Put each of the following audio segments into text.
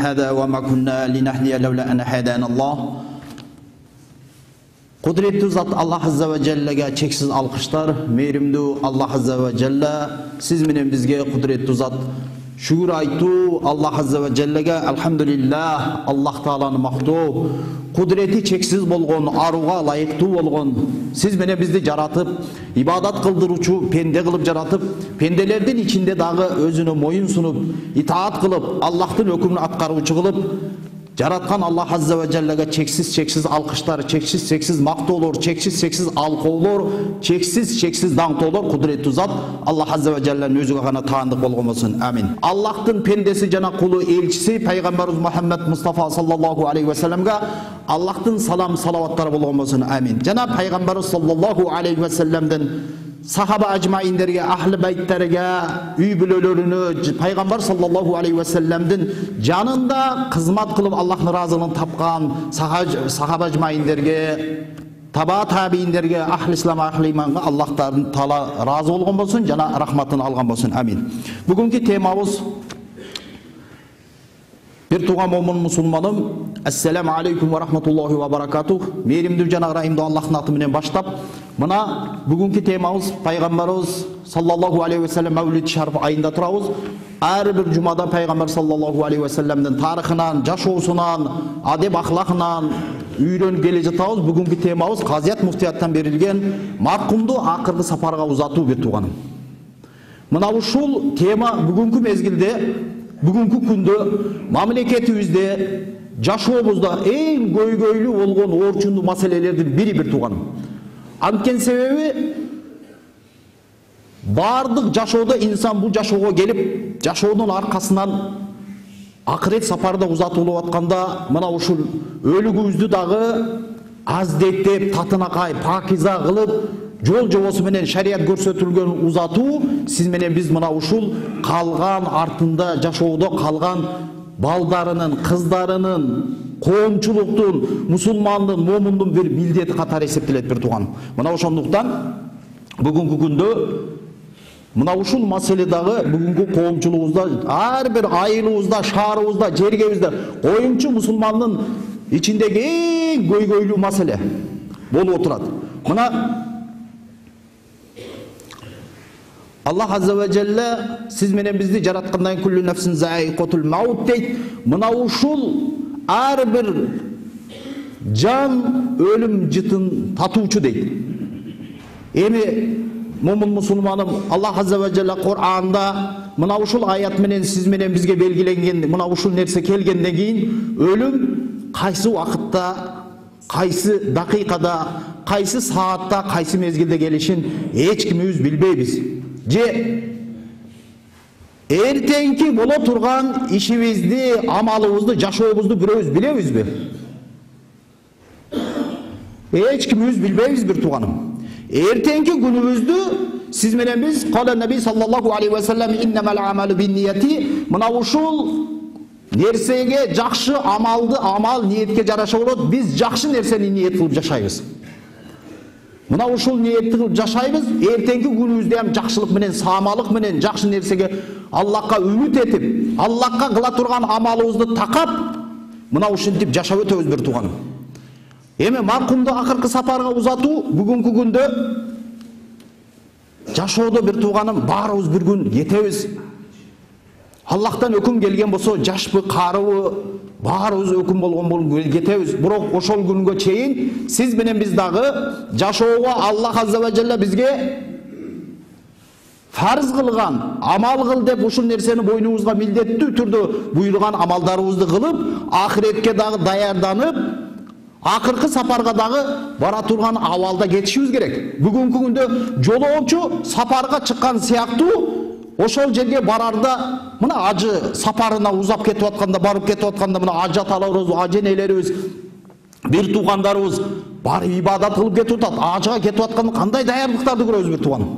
هذا وما كنا لنهتدي لولا أن هدانا الله. Кудуреттүү зат Аллах азза ва жаллага чексиз алкыштар. Мейримдүү Аллах азза ва жалла сиз менен бизге кудуреттүү зат шүгүр айтуу Аллах азза ва жаллага алхамдулиллах Аллах тааланы мактоо. Кудурети чексиз болгон, арууга ылайыктуу болгон сиз менен бизди жаратып, ибадат кылдыруучу пенде кылып жаратып, пенделердин ичинде дагы өзүнө моюн сунуп, итаат кылып, Аллахтын өкүмүн аткаруучу кылып жараткан Аллах азза ва жаллага чексиз алкыштар, чексиз мактоолор, чексиз алкоолор, чексиз даңтоолор кудуреттүү зат Аллах азза ва жалланын өзүгө гана таандык болгон болсун. Амин. Аллахтын пендеси жана кулу элчиси пайгамбарыбыз Мухаммад Мустафа саллаллаху алейхи ва салламга Аллахтын салам салаваттары болгон болсун. Амин. Жана пайгамбарыбыз саллаллаху алейхи ва салламдын сахаба ажмаиндерге, ахли байттерге, үй бүлөлөрүнө, пайгамбар саллаллаху алейхи ва салламдын жанында кызмат кылып Аллахтын ыраазылыгын тапкан сахаба ажмаиндерге, таба табииндерге, ахли ислам, ахли иманга Аллах таала ыраазы болгон болсун жана рахматын алган болсун. Амин. Бүгүнкү темабыз бир тууган момун мусулманым, ассаламу алейкум ва рахматуллахи ва баракатух. Мээримдүү жана ырайымдуу Аллахтын аты менен баштап, мына бүгүнкү темабыз пайгамбарыбыз саллаллаху алейхи ва саллам Мавлид шариф айында турабыз. Ар бир жумада пайгамбар саллаллаху алейхи ва салламдын тарыхынан, жашоосунан, адеп ахлакынан үйрөнүп келе жатабыз. Бүгүнкү темабыз Казият муфтияттан берилген маркумду акыркы сапарга узатуу бир тууганым. Мына ушул тема бүгүнкү мезгилде, бүгүнкү күндө мамлекетибизде, жашообузда эң көйгөйлүү болгон оорчундуу маселелердин бири бир тууганым. Анткени себеби бардык жашоодо инсан бул жашоого келип, жашоонун аркасынан акырет сапарда узатылып атканда мына ушул өлүгүбүздү дагы аздеттеп, татынакай, пакиза кылып, жол жобосу менен шарият көрсөтүлгөн узатуу сиз менен биз мына ушул калган артында жашоодо калган балдарынын, кыздарынын, коомчулуктун, мусулмандын, момундун бир милдети катары эсептелет бир тууган. Мына ошондуктан бүгүнкү күндө мына ушул маселе дагы бүгүнкү коомчулугубузда, ар бир айылыбызда, шаарыбызда, жергебизде коюмчу мусулмандын ичиндеги эң көйгөйлүү маселе болуп отурат. Мына Аллах азза ва жалла сиз менен бизди жараткандан куллу нафсин заикатул маут дейт. Мына ушул ар бир жан өлүм жытын татуучу дейт. Эми момун мусулманым, Аллах азза ва жалла Кур'анда мына ушул аят менен сиз менен бизге белгиленген, мына ушул нерсе келгенден кийин өлүм кайсы убакытта, кайсы дакыйкада, кайсы саатта, кайсы мезгилде келишин эч кимибиз билбейбиз. Же эртеңки боло турган ишибизди, амалыбызды, жашообузду бирөөбүз билебизби? Эч кимибиз билбейбиз бир тууганым. Эртеңки күнүбүздү сиз менен биз кала наби саллаллаху алейхи ва саллам иннамал амалу биннияти, мына ушул нерсеге жакшы амалды амал ниетке жараша болот. Биз жакшы нерсени ниет кылып жашайбыз. Мына ушул ниетти кылып жашайбыз. Эртеңки күнүбүздө ham жакшылык менен, саамалык менен жакшы нерсеге Аллахка үмүт этип, Аллахка кыла турган амалыбызды такап, мына ушинтип жашап өтөбүз бир тууганым. Эми маркумду акыркы сапарга узатуу бүгүнкү күндө жашоодо бир тууганым баарыбыз бир күн кетебиз. Аллахтан өкүм келген болсо, жашпы, карыбы, баарыбыз өкүм болгон болуп кетебиз. Бирок ошол күнгө чейин сиз менен биз дагы жашоого Аллах азза ва жалла бизге фарз кылган, амал кыл деп ушул нерсени бойнубузга милдеттүү түрдө буйруган амалдарыбызды кылып, ахиретке дагы даярданып, акыркы сапарга дагы бара турган абалда кетишибиз керек. Бүгүнкү күндө жолоочу сапарга чыккан сыяктуу ошол жерге барарда мына ажы сапарына узап кетип атканда, барып кетип атканда мына ажы аталарыбыз, ажы энелерибиз, бир туугандарыбыз барып ибадат кылып кетип атат. Ажыга кетип атканда кандай даярдыктарды көрөбүз бир тууганым.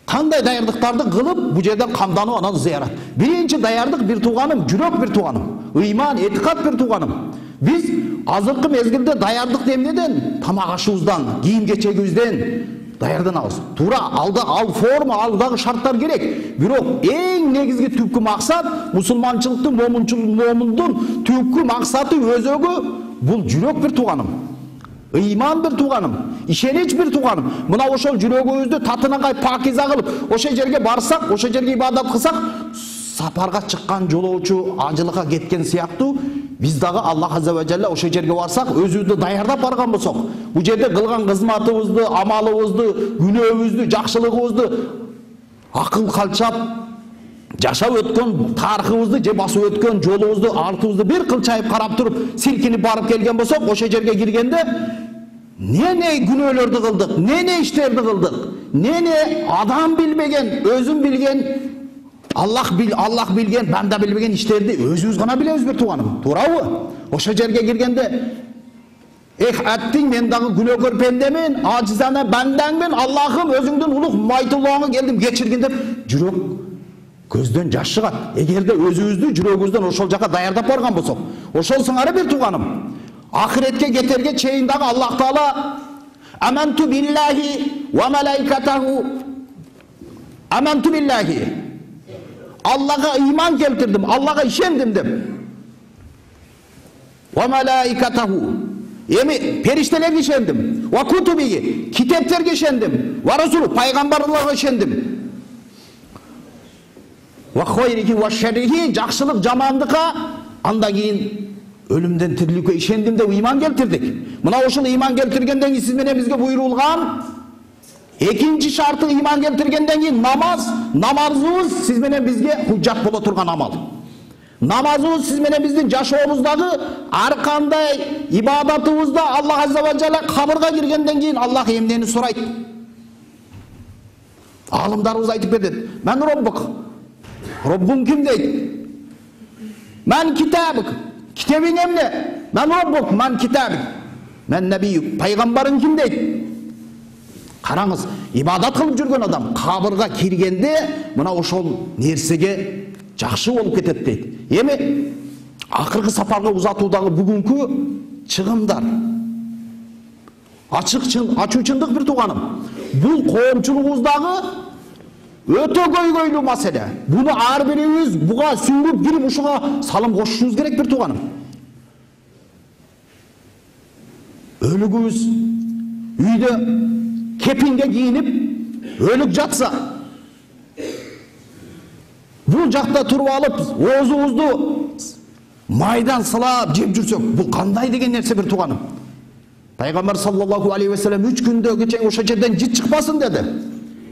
Кандай даярдыктарды кылып бу жерден камданып анан зыярат. Биринчи даярдык бир тууганым, жүрөк бир тууганым, ыйман, этикат бир тууганым. Биз азыркы мезгилде даярдык эмнеден? Тамак ашыбыздан, кийим кечегибизден, даярданабыз. Туура ал форма, ал дагы шарттар керек. Бирок эң негизги түпкү максат мусулманчылыктын, момундун түпкү максаты өзөгү бул жүрөк бир тууганым. Ыйман бир тууганым, ишенич бир тууганым. Мына ошол жүрөгүбүздү татынагай пакиза кылып, ошол жерге барсак, ошол жерге ибадат кылсак, сапарга чыккан жолоочу ажылыкка кеткен сыяктуу биз дагы Аллах азза ва жалла ошол жерге барсак, өзүбүздү даярдап барган болсок, бул жерде кылган кызматыбызды, амалыбызды, күнөөбүздү, жакшылыгыбызды акыл калчап жашап өткөн тарыхыбызды же басып өткөн жолубузду, артыбызды бир кылчайып карап туруп, силкинип барып келген болсок, ошол жерге киргенде не күнөөлөрдү кылдык, не иштерди кылдык, не адам билбеген, өзүм билген, Аллах билген, банда билбеген иштерди өзүбүз гана билебиз бир тууганым. Туурабы? Ошол жерге киргенде аттиң, мен дагы күнөөкөр пендемин, ажизана бандаңмын, Аллахым өзүңдүн улук майтуллооңо келдим, кечиргин деп жүрөк көздөн жаш чыгат. Эгерде өзүбүздү жүрөгүбүздөн ошол жака даярдап барган болсок, ошол сыңары бир тууганым. Ахиретке кетерге чейин дагы Аллах Таала аманту биллахи ва малаикатаху, аманту биллахи, Аллага ыйман келтирдим, Аллага ишендим деп. Ва малаикатаху, эми периштелерге ишендим. Ва кутубиги, китептерге ишендим. Ва расул, пайгамбарларга ишендим. Ва хойрихи ва шаррихи, жакшылык жамандыкка, андан кийин өлүмдөн тириликке ишендим деп ыйман келтирдик. Мына ошол ыйман келтиргенден кийин сиз менен бизге буйрулган экинчи шарты ыйман келтиргенден кийин намаз. Намазыбыз сиз менен бизге худжат боло турган амал. Намазыбыз сиз менен биздин жашообуздагы ар кандай ибадатыбызда Аллах азза ва жалла кабырга киргенден кийин Аллах эмнени сурайт? Алымдарыбыз айтып берди. Мен Роббук. Роббуң ким дейт? Мен китабык. Китебиң эмне? Мен Роббук, мен китабык. Мен набиюк. Пайгамбарың ким дейт? Караңыз, ибадат кылып жүргөн адам кабырга киргенде мына ошол нерсеге жакшы болуп кетет дейт. Эми акыркы сапарга узатуудагы бүгүнкү чыгымдар ачуучундук бир тууганым. Бул коомчулугубуздагы өтө көйгөйлүү маселе. Буну ар бирибиз буга сүңгүп кирип ушуга салым кошушубуз керек бир тууганым. Өлүгүбүз үйдө кепинге кийинип өлүк жатса, бул жакта туруп алып оозубузду майдан сылап жеп жүрсөк, бул кандай деген нерсе бир тууганым. Пайгамбар саллаллаху алейхи ва саллям 3 күндөгү чейин ошол жерден жит чыкпасын деди.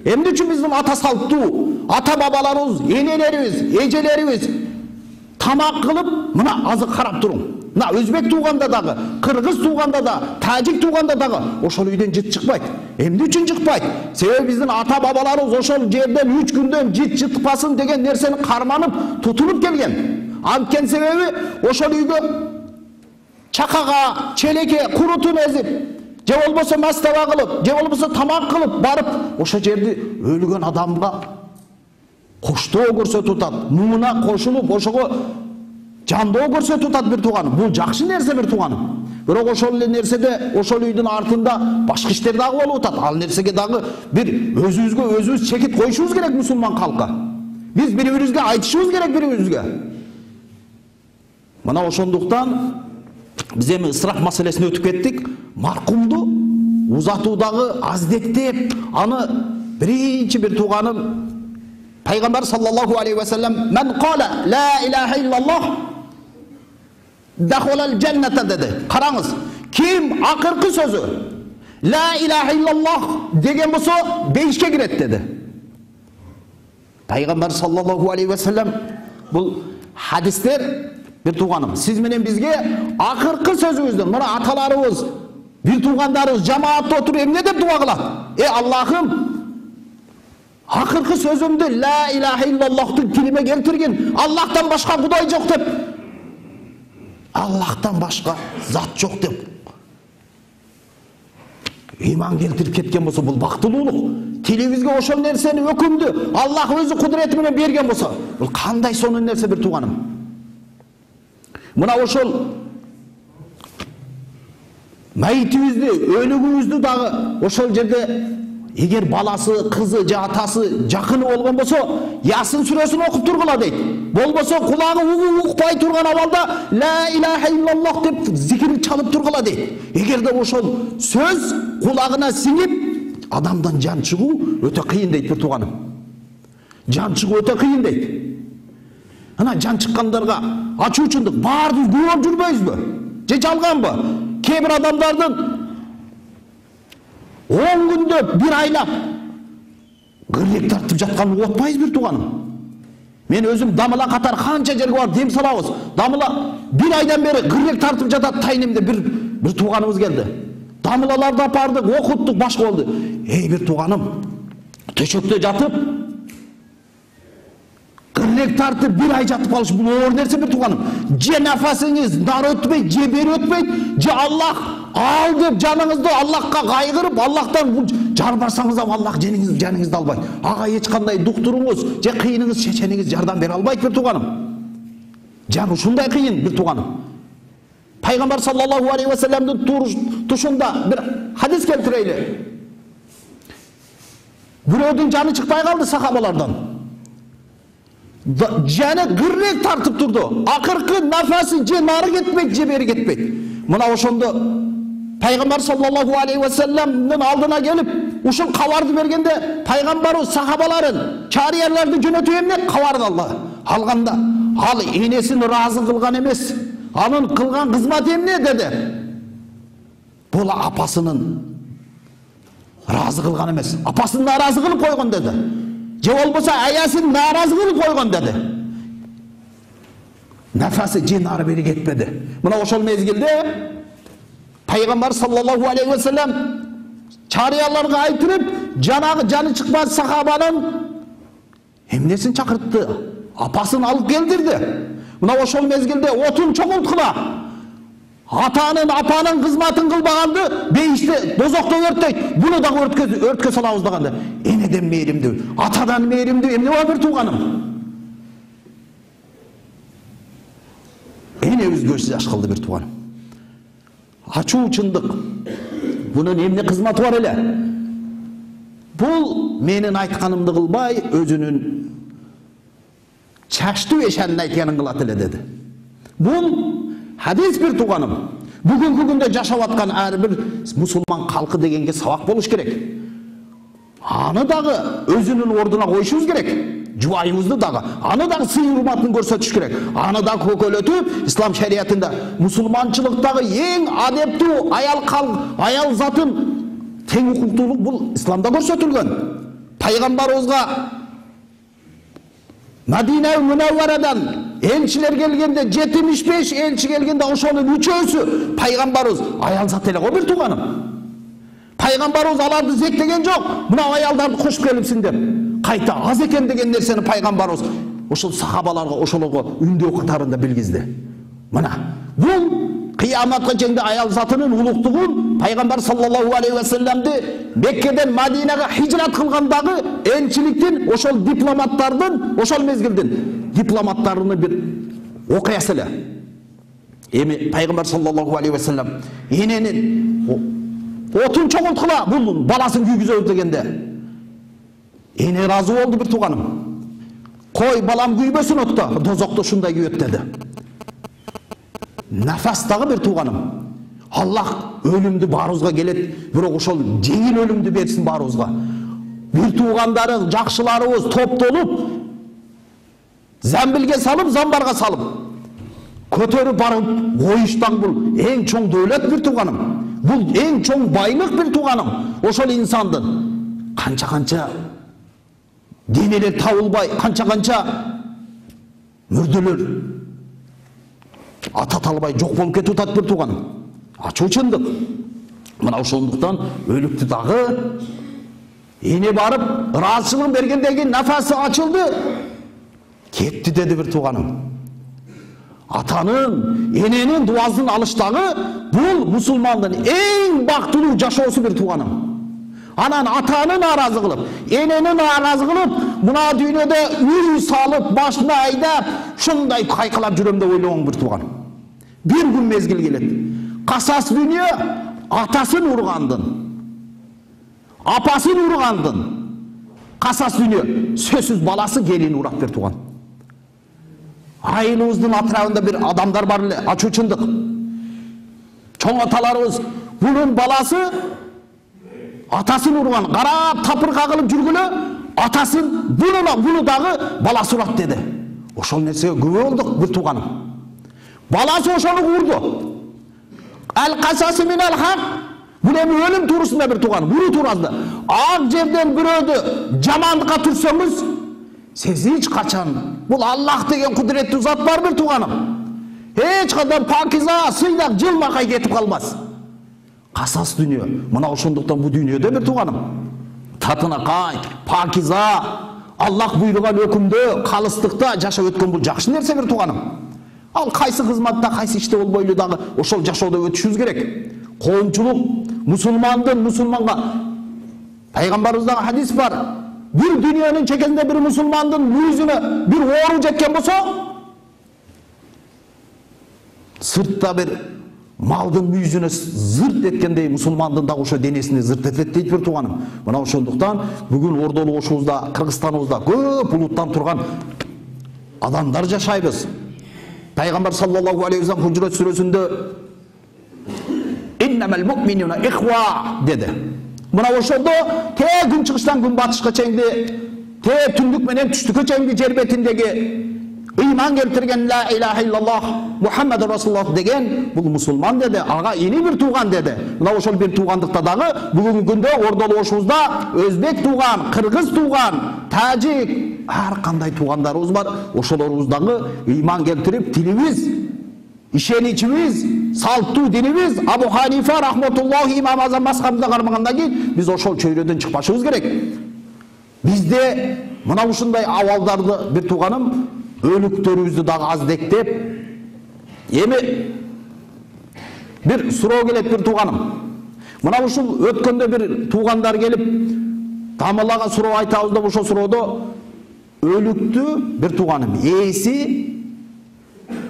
Эмне үчүн биздин ата салттуу, ата бабаларыбыз, энелерибиз, эжелерибиз тамак кылып, мына азык карап туруң. Мына өзбек тууганда дагы, кыргыз тууганда да, тажик тууганда дагы ошол үйдөн жит чыкпайт. Эмне үчүн чыкпайт? Себеби биздин ата бабаларыбыз ошол жерден 3 күндөн жит чыкпасын деген нерсени карманып, тутунуп келген. Анткени себеби ошол үйгө чакага, челекке курутун эзип, же болбосо мастаба кылып, же болбосо тамак кылып барып, ошол жерди өлгөн адамга коштоо көрсөтүп атат, муңуна кошулуп, ошого жандоо көрсөтүп атат бир тууганым. Бул жакшы нерсе бир тууганым. Бирок ошол эле нерседе, ошол үйдүн артында башка иштер дагы болуп атат. Ал нерсеге дагы бир өзүбүз чекит коюшубуз керек мусулман калкка. Биз бири-бирибизге айтышыбыз керек бири-бирибизге. Мына ошондуктан биз эми ысраф маселесине өтүп кеттик. Маркумду узатуудагы аздектеп, аны биринчи бир тууганым Пайгамбар саллаллаху алейхи ва саллям мен кала ла илаха иллаллах дахолал джанната деди. Караңыз, ким акыркы сөзү ла илаха иллаллах деген болсо бейишке кирет деди. Пайгамбар саллаллаху алейхи ва саллям бул хадистер бир тууганым, сиз менен бизге акыркы сөзүбүздүн, мына аталарыбыз, бир туугандарыбыз жамаатта отуруп эмне деп дуа кылат? Аллахым, акыркы сөзүмдү ла илаха иллаллахтын тилиме келтиргин. Аллахтан башка кудай жок деп. Аллахтан башка зат жок деп ыйман келтирип кеткен болсо, бул бактылуулук. Тилибизге ошол нерсени өкүмдү Аллах өзү кудурети менен берген болсо, бул кандай сонун нерсе бир тууганым. Мына ошол майытыбызды, өлүгүбүздү дагы ошол жерде эгер баласы, кызы же атасы жакыны болгон болсо, Ясин сүрөсүн окуп тургула дейт. Болбосо кулагы укпай турган абалда ла илаха иллаллах деп зикир чалып тургула дейт. Эгерде ошол сөз кулагына сиңип, адамдан жан чыгуу өтө кыйын дейт бир тууганым. Жан чыгуу өтө кыйын дейт. Ана жан чыккандарга ачуучундук баарыбыз күбөлүп жүрбөйбүзбү? Же жалганбы? Кээ бир адамдардын 10 күндө бир айлап гырлек тартып жатканын угуп атпайбыз бир тууганым. Мен өзүм дамыла катар канча жерге барып дем салабыз. Дамыла бир айдан бери гырлек тартып жатат тайнемде бир тууганыбыз келди. Дамылаларды апардык, окуттук, башка болду. Эй бир тууганым, төшөктө жатып гырлек тартып бир ай жатып калыш бул оор нерсе бир тууганым. Же нафасыңыз нар өтпөйт, же бери өтпөйт, же Аллах ал деп жаныңызды Аллахка кайгырып, Аллахтан бул жарбарсаңыз да Аллах жаныңызды албайт. Ага эч кандай дуктуруңуз же кыйыныңыз, чечениңиз жардам бере албайт бир тууганым. Жан ушундай кыйын бир тууганым. Пайгамбар саллаллаху алейхи ва салламдын тушунда бир хадис келтирейли. Бирөөдүн жаны чыкпай калды сахабалардан. Жаны гырлек тартып турду. Акыркы нафасы же нары кетпейт, же бери кетпейт. Мына ошондо Пайгамбар саллаллаху алейхи ва салламдын алдына келип, ушул кабарды бергенде пайгамбарыбыз сахабаларын, чарияларды жөнөтүп эмне кабарды алганда, ал энесин ыраазы кылган эмес. Анын кылган кызматы эмне деди? Бул апасынын ыраазы кылган эмес, апасын нааразы кылып койгон деди. Же болбосо аясын нааразы кылып койгон деди. Нафасы же нары бери кетпеди. Мына ошол мезгилде Пайгамбар саллаллаху алейхи ва саллам чарияларга айтырып, жанагы жаны чыкпас сахабанын эмнесин чакыртты? Апасын алып келдирди. Мына ошол мезгилде отун чогулткула. Атанын, апанын кызматын кылбаганды бейиште, дозокто өрттөйт. Буну дагы өрткө салабыз дегенде. Энеден мээримдүү, атадан мээримдүү эмне бар бир тууганым? Энебиз көз жаш кылды бир тууганым. Ачуучундук. Бунун эмне кызматы бар эле? Бул менин айтканымды кылбай, өзүнүн чачтуу эшенин айтканын кылат эле деди. Бул хадис бир тууганым. Бүгүнкү күндө жашап аткан ар бир мусулман калкы дегенге сабак болуш керек. Аны дагы өзүнүн ордуна коюшубуз керек. Жубайыбызды дагы, аны дагы сый урматын көрсөтүш керек. Аны дагы көкөлөтүп, ислам шариятында мусулманчылыктагы эң адептүү аял затын тең укуктуулук бул исламда көрсөтүлгөн. Пайгамбарыбызга Мадина Мунавварадан элчилер келгенде 75 элчи келгенде ошонун 3-өсү пайгамбарыбыз аял зат эле го бир тууганым. Пайгамбарыбыз аларды зектеген жок. Мына аялдарды кошуп келипсиң деп. Кайта аз экен деген нерсени пайгамбарыбыз ошол сахабаларга ошолорго үндөө катарында билгизди. Мына бул кыяматка чейин аял затынын улуктугун пайгамбар саллаллаху алейхи ва салламды Меккеден Мадинага хижрат кылгандагы элчиликтин ошол дипломаттардын ошол мезгилдин дипломаттарынын бир окуясы эле. Эми пайгамбар саллаллаху алейхи ва саллам эненин отун чогулткула бул баласын күйгүзөбүз дегенде эне ыраазы болду бир тууганым. Кой балам күйбөсүн отто, дозокто ушундай күйөт деди. Нафастагы бир тууганым. Аллах өлүмдү баарыбызга келет, бирок ошол жеңил өлүмдү берсин баарыбызга. Бир туугандарың, жакшыларыбыз топтолуп, замбилге салып, замбарга салып, көтөрүп барып коюштан бул эң чоң дөөлөт бир тууганым. Бул эң чоң байлык бир тууганым. Ошол инсандын канча денелер табылбай, канча мүрдөлөр ата талбай жок болуп кетип атат бир тууганым. Ачуучундук. Мына ошондуктан өлүктү дагы эне барып ыраазычылык бергенден кийин нафасы ачылды. Кетти деди бир тууганым. Атанын, эненин дуасын алыштагы бул мусулмандын эң бактылуу жашоосу бир тууганым. Анан атаны нааразы кылып, энени нааразы кылып, мына дүйнөдө үй салып, башына айдап, шундай кайкалап жүрөм деп ойлогон бир тууганым. Bir gün mezgil келет. Касас дүйнө атасын ургандын, апасын ургандын касас дүйнө, сөзсүз баласы келин урат бир тууган. Айылыбыздын атрабында бир адамдар бар эле, ачуу чындык. Чоң аталарыбыз bunun balası atasını urgan, qarab tapır kagılıp жүргүлө, ataсын bunu dağı balası urat dedi. Oşol nersege köpö olduk bir tuğanım. Balası oşonu urdu. El kasası minel hak. Bu emin ölüm turusunda bir tuğanım. Bunu turazdı. Ak жерден bürödü jamanlıkka tursanız siz hiç kaçan. Bu Allah degen kudretli zat var bir tuğanım. Hiç kadar pakiza, sıydak, jılmakay ketip kalmaz. Kasas dünya. Mına oşonduktan bu dünyada bir tuğanım. Tatına kay, pakiza, Allah buyurgan ökümdө, kalыстыкta жашап өткөн бул жакшы нерсе bir туганым. Ал кайсы кызматта, кайсы иште болбойлу дагы ошол жашоодо өтүшүбүз керек. Коомчулук мусулмандын мусулманга пайгамбарыбыздан хадис бар. Bir dünyanın çekesinde bir musulmandın yüzüne bir oğru jetken bolsa, sırtta bir maldın yüzüne zırt etkendey musulmandın da oşo denesini zırt etет deyt bir tuğanım. Mına oşonduktan bugün Ordolu oşubuzda, Kırgızstanыбызda көп улуттан турган адамдар жашайбыз. Пайгамбар саллаллаху алейхи ва саллям Hucurat сүрөсүндө "İnnemel mu'minuna ihva" dedi. Mına oşondo te gün çıkıştan gün batışka çeyndi, te tündük menen түштүккө çeyndi jer betindegi iman keltirgen la ilahe illallah Muhammed Resulullah degen bul musulman dedi. Aga ini bir tuğan dedi. Mına oşol bir tuğandыкta dagı bugünkü günde Ordolu oşubuzda Özbek tuğan, Kırgız tuğan, Tacik, har kanday tuğandarыбыз бар. Oşolorubuzdağı iman keltirip tilimiz, işeniçimiz, salttуу dinimiz Abu Hanife rahmetullahi İmam Azam mazhabımıza karmagandan keyin biz oşol çöyrödөн çıkpaşыбыз керек. Bizde mına ушундай awaldardı bir tuğanım ölüktörübüzdü dagı azdектеп эми bir суроо келет bir tuğanım. Mına ушул өткөндө bir tuğandar gelip Damalaga суроо айтабыз деп ошол суроодо өлүктү bir tuğanım ээси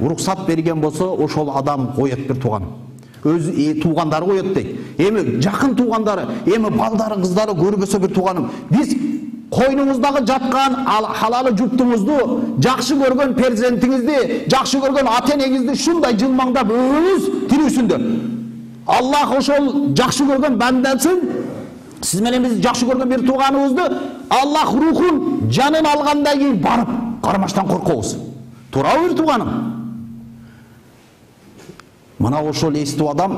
уруксат берген болсо ошол адам коет bir tuğanım. Өз туғандары коет дейт. Эми жакын туғандары, эми балдары, кыздары көрбөсө bir tuğanım. Biz koynumuzdagы жаткан халалы жуптуңузду, жакшы көргөн перзентиңизди, жакшы көргөн ата-энеңизди шундай жылмаңдап өзүңүз тирүүсүндө. Аллах ошол жакшы көргөн бандасын, сиз менен биз жакшы көргөн bir туғаныбызды Аллах рухун, жанын алгандан кийин барып кармаштан коркобуз. Туурабы bir туғаным? Мына ошол эстүү адам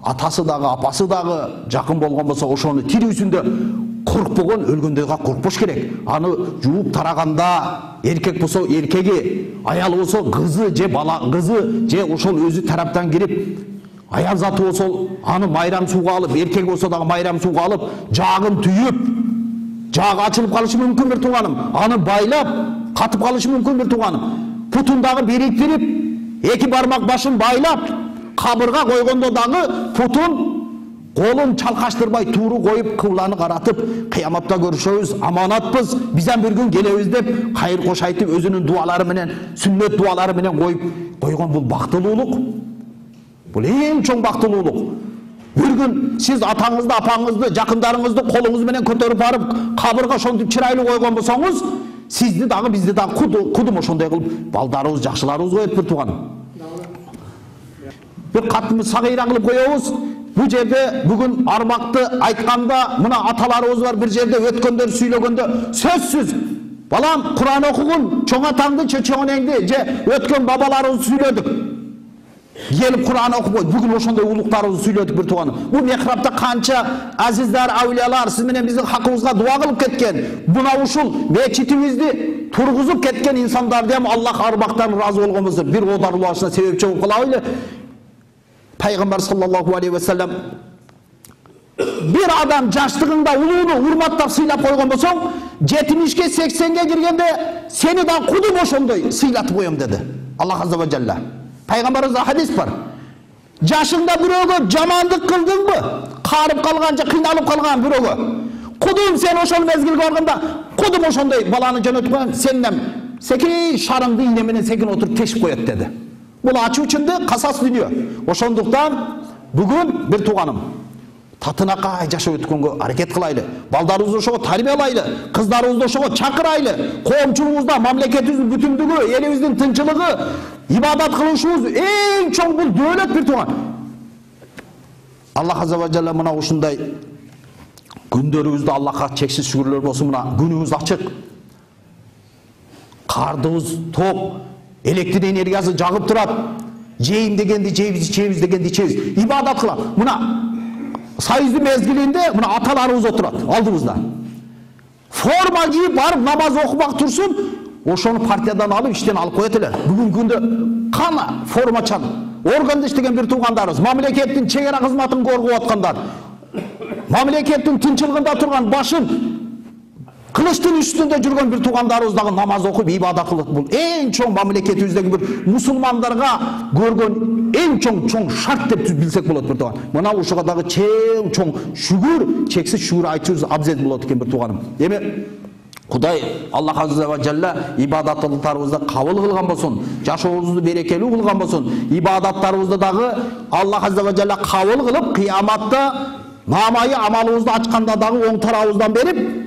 атасы дагы, апасы дагы жакын болгон болсо ошону тирүүсүндө коркпогон, өлгөндөгө коркпош керек. Аны жууп тараганда эркек болсо эркеги, аял болсо кызы же бала кызы же ошол өзү тараптан кирип, аял заты болсо аны майрам сууга алып, эркек болсо дагы майрам сууга алып, жаагын түйүп, жаагы ачылып калышы мүмкүн bir туғаным. Аны байлап, катып калышы мүмкүн bir туғаным. Путун дагы бириктирип, эки бармак башын байлап, кабырга койгондо дагы путун колун чалкаштырбай тууру коюп кыбланы каратып кыяматта көрүшөбүз, аманатпыз, бизден bir күн келебиз деп кайыр кош айтып өзүнүн дуалары менен, сүннөт дуалары менен коюп койгон бул бактылуулук. Бул эң чоң бактылуулук. Bir күн сиз атаңызды, апаңызды, жакындарыңызды колуңуз менен көтөрүп барып кабырга ошентип чырайлуу койгон болсоңуз, сизди дагы бизди дагы кудум ошондой кылып балдарыбыз, жакшыларыбыз коет bir туган. Bir катымыз сагыйра кылып коебуз. Bu жерде бүгүн армакты айтканда мына аталарыбыз бар bir жерде өткөндөр сүйлөгөндө сөзсүз балам Кур'ан окугун, чоң атаңды, чоң энеңди же өткөн бабаларыбызды сүйлөдүк. Gelip Kur'an okuyup bugün oşonday uluklarыбызды сүйлөдүк bir tuğanım. Bu mihrapta kança azizler, avliyalar siz менен биздин hakkımızga dua kılıp ketken, buna uşul meçitimizdi turguzup ketken insanlar dem Allah arbaktan razı olgomuzdur. Bir odarlılaşına sebepçi olup kalabaylı. Peygamber sallallahu aleyhi ve sellem bir adam jaştığında uluğunu hurmatlap sıylap koygon bolsoň, 70'ke 80'ge girgende seni da kudum oşonday sıylatıp koyom dedi. Allah azze ve celle. Peygamberimizde hadis var. Jaşında biröөгө jamandyk kıldыңбы? Karıp kalganca, kıynalıp kalgan biröөгө. Kudum sen oşol mezgilge barganda, kudum oşonday balany jönötüp koygan, senden sekin şarыңды iğne menен sekin oturup teşip koyat dedi. Bul açığı içinde kasas dünya. Oşonduktan bugün bir tuğanım. татынакай жашап өткөнгө аракет кылайлы. Балдарыбызды ошого тарбиялайлы, кыздарыбызды ошого чакырайлы. Коомчулугубузда мамлекетибиздин бүтүндүгү, элибиздин тынчылыгы, ибадат кылышыбыз эң чоң бул дөөлөт бир тууган. Аллах азза ва жалла мына ушундай күндөрүбүздө Аллахка чексиз шүгүрлөр болсун. Мына күнүбүз ачык. Кардыбыз топ, электр энергиясы жагып турат. Жейм дегенди жейбиз, ичебиз дегенди ичебиз. Ибадат кылам. Мына Союздун мезгилинде мына аталарыбыз отурат алдыбызда. Форма кийип барып намаз окумак турсун, ошону партиядан алып иштен алып коет эле. Бүгүнкү күндө кана формачан органда иштеген бир туугандарыбыз, мамлекеттин чегара кызматын коргоп аткандар, мамлекеттин тынчылыгында турган башын кылычтын үстүндө жүргөн бир туугандарыбыз дагы намаз окуп ибадат кылат. Бул эң чоң мамлекетибиздеги бир мусулмандарга көргөн эң чоң шарт деп билсек болот бир тууган. Мына ушуга дагы чоң шүгүр, чексиз шүгүр айтышыбыз абзел болот экен бир тууганым. Эми Кудай Аллах азза ва жалла ибадаттарыбызды кабыл кылган болсун, жашообузду берекелүү кылган болсун. Ибадаттарыбызды дагы Аллах азза ва жалла кабыл кылып, кыяматта намайы амалыбызды ачканда дагы оң тарабыбыздан берип,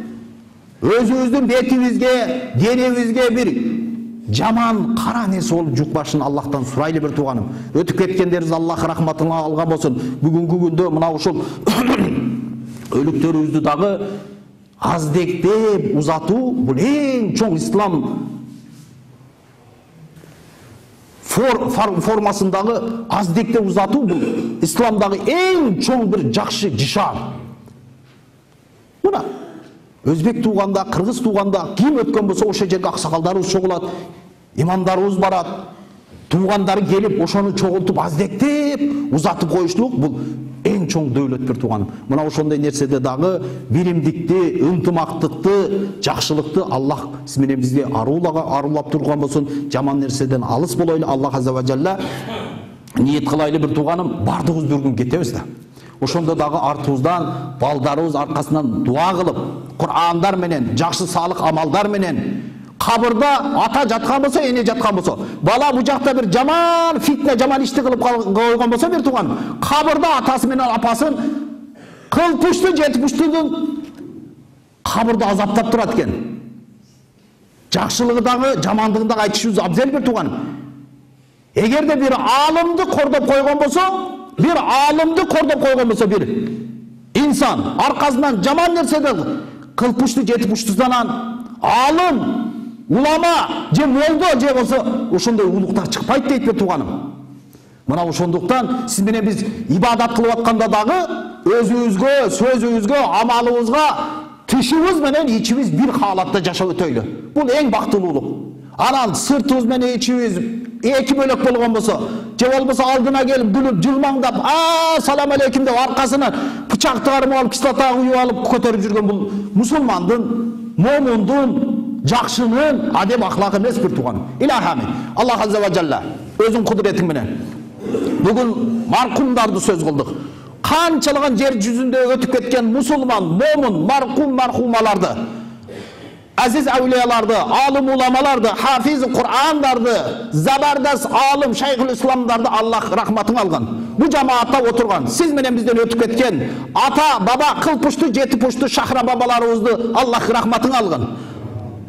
өзүбүздүн бетибизге, денебизге бир жаман кара нерсе болуп жукпашын Аллахтан сурайлы бир тууганым. Өтүп кеткендерибиз Аллах рахматына алган болсун. Бүгүнкү күндө мына ушул өлүктөрүбүздү дагы аздектеп узатуу бул эң чоң ислам формасындагы аздектеп узатуу бул исламдагы эң чоң бир жакшы жишар. Мына өзбек тууганда, кыргыз тууганда ким өткөн болсо ошол жерге аксакалдарыбыз чогулат, имамдарыбыз барат, туугандары келип ошону чогултуп аздектеп узатып коюштук бул эң чоң дөөлөт бир тууганым. Мына ошондой нерседе дагы биримдикти, ынтымактыкты, жакшылыкты Аллах сиз менен бизге арулап турган болсун. Жаман нерседен алыс болойлу. Аллах азза ва жалла ниет кылайлы бир тууганым, бардыгыбыз бир күн кетебиз да. Ошондо дагы артыбыздан балдарыбыз аркасынан дуа кылып, Кур'андар менен, жакшы салык амалдар менен, кабырда ата жаткан болсо, эне жаткан болсо, бала бу жакта бир жаман фитне, жаман ишти кылып койгон болсо бир тууган, кабырда атасы менен апасын кылпушту, жетпуштудун кабырда азаптап турат экен. Жакшылыгы дагы, жамандыгын дагы айтышыбыз абзел бир тууган. Эгерде бир аалымды кордоп койгон болсо, бир инсан аркасынан жаман нерседен кылпушту, жетпуштудан аалым, улама же молдо же болсо ошондой улуктар чыкпайт дейт бир тууганым. Мына ошондуктан сиз менен биз ибадат кылып атканда дагы өзүбүзгө, сөзүбүзгө, амалыбызга тишибиз менен ичибиз бир хаалатта жашап өтөйлү. Бул эң бактылуулук. Анан сыртыбыз менен ичибиз эки бөлөк болгон болсо, же болбосо алдына келип күлүп, жылмаңдап, салам алейкум деп аркасынан бычак тыгарып алып, кислота куюп алып көтөрүп жүргөн бул мусулмандын, момундун, жакшынын адеп ахлакы эмес бир тууганым. Илахами Аллах азза ва жалла өзүнүн кудуретиң менен бүгүн маркумдарды сөз кылдык. Канчалаган жер жүзүндө өтүп кеткен мусулман, момун, маркумаларды, азиз аулияларды, алым уламаларды, хафиз Кур'андарды, забардас алым шайхул исламдарды Аллах рахматын алган. Бу жамаатта отурган, сиз менен бизден өтүп кеткен ата, баба, кылпушту, жетипушту шахра бабаларыбызды Аллах рахматын алган.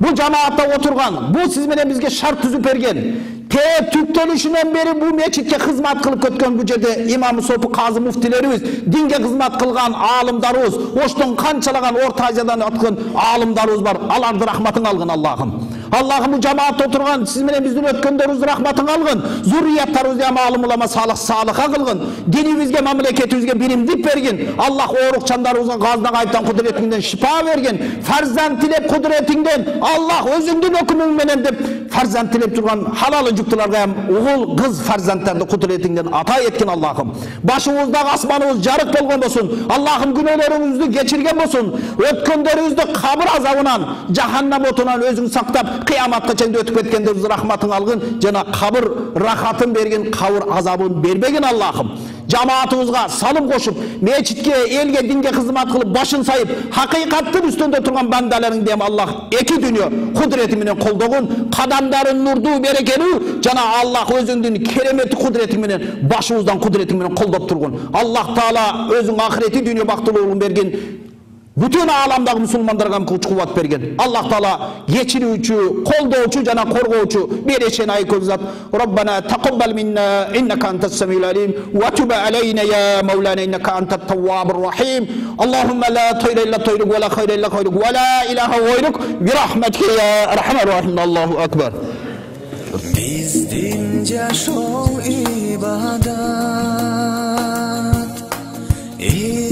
Бу жамаатта отурган, бу сиз менен бизге шарт түзүп берген. Түптөлүшүнөн бери бу мечитке кызмат кылып көткөн, бу жерде имам сопу, казы муфтилерибиз, динге кызмат кылган алымдарыбыз, оштон канчалаган Орто Азиядан аткан алымдарыбыз бар. Аларды рахматын алгын Аллахым. Аллахым бу жамаатта отурган сиз менен биздин өткөндөрүбүздү рахматын алгын. Зуррияттарыбызды алым улама салыха кылгын. Динибизге, мамлекетибизге биримдик бергин. Аллах оорукчандарыбызга газдан кайыптан кудуретиңден шифа берген. Фарзанд тилеп кудуретиңден Аллах өзүңдүн өкүмүң менен деп фарзанд тилеп турган халал жүктүлөргө угул, кыз фарзандтарды кудуретиңден ата эткин Аллахым. Башыбыздагы асманыбыз жарык болгон болсун. Аллахым күнөөлөрүбүздү кечирген болсун. Өткөндөрүбүздү кабыр азабынан, жаханнам отунан өзүң сактап, кыяматка чейин өтүп кеткендерибизди рахматың алгын. Жана кабыр рахатын берген, кабыр азабын бербеген Аллахым. жамаатыбызга салым кошуп, мечитке, элге, динге кызмат кылып, башын сайып, хакыйкаттын үстүндө турган бандаларың дем Аллах эки дүйнө кудурети менен колдогун, кадамдарын нурдуу, берекелүү жана Аллах өзүңдүн кереметти кудуретиң менен, башыбыздан кудуретиң менен колдоп тургун. Аллах Таала өзүң ахирети дүйнө бактылуулугун бергин. Бүтүн ааламдагы мусулмандарга күч кубат берген. Аллах Таала кечирүүчү, колдоочу жана коргоочу берешен айкөл зат. Роббана тaqabbal minna innaka antas samiul alim wa tub alayna ya maulana innaka antat tawwabur rahim. Allahumma la tayra illa tayruk wa la khayra illa khayruk wa la ilaha ghayruk bi rahmatika ya arhamar rahim. Allahu akbar. Bizdin jashoo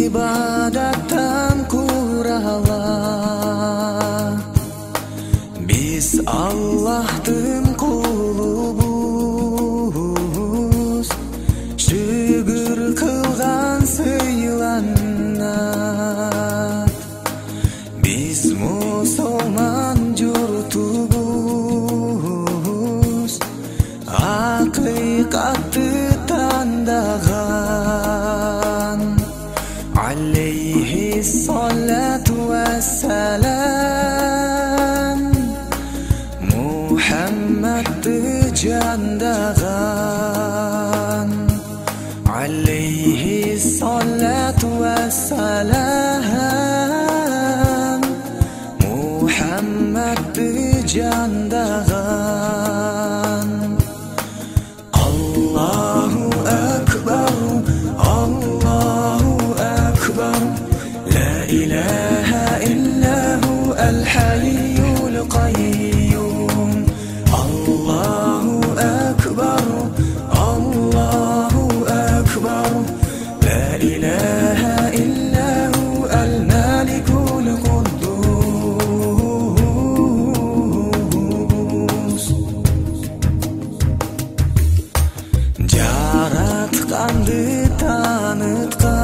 ibadattan kurala. Biz Allah'tın kulubuz, şükür kılgan sıylanat. Biz musulman jurtubuz, hakikatı tandagan. Aleyhi salatu vesselam, Muhammed'ı candagan. Aleyhi salatu vesselam, Muhammed'ı candagan. Allahu Ekber, Allahu Ekber, La ilahe illahu el-hayyul kayyum. Allahu Ekber, Allahu Ekber, La ilahe illahu el-malikul kuddus. Jaratkandı tanıtkan,